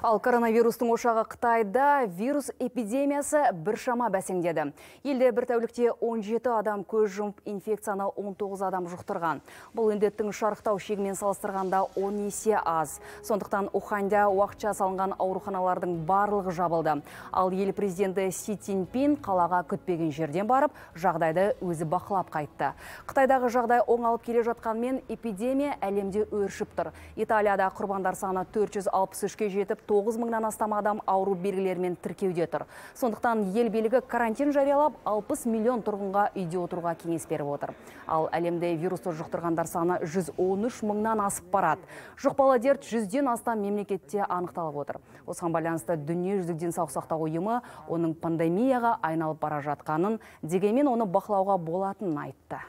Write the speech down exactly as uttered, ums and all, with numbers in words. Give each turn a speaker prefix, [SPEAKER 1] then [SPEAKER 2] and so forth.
[SPEAKER 1] Ал коронавирустың ошағы Қытайда вирус эпидемиясы біршама бәсеңдеді. Елде бір тәулікте он жеті адам көз жұмып, инфекцияны он тоғыз адам жұқтырған. Бұл індеттің шарықтау шегімен салыстырғанда он есе аз. Сондықтан Уханьда уақытша салынған ауруханалардың барлығы жабылды. Ал ел президенті Си Цзиньпин қалаға күтпеген жерден барып, жағдайды өзі бақылап қайтты. Қытайдағы жағдай оңалып келе жатқанмен эпидемия әлемде өршіп тұр. Италияда құрбандар саны төрт жүз алпыс үшке жетіп, тоғыз мыңнан астам адам ауру белгілерімен тіркеуде тұр. Сондықтан ел билігі карантин жариялап, алпыс миллион тұрғынға үйде отыруға кеңес беріп отыр. Ал әлемде вирусты жұқтырғандар саны жүз он үш мыңнан асып барады. Жұқпалы дерт жүзден астам мемлекетте анықталып отыр. Осыған байланысты дүниежүзілік денсаулық сақтау ұйымы оның пандемияға айналып бара жатқанын, дегенмен оны бақылауға болатынын айтты.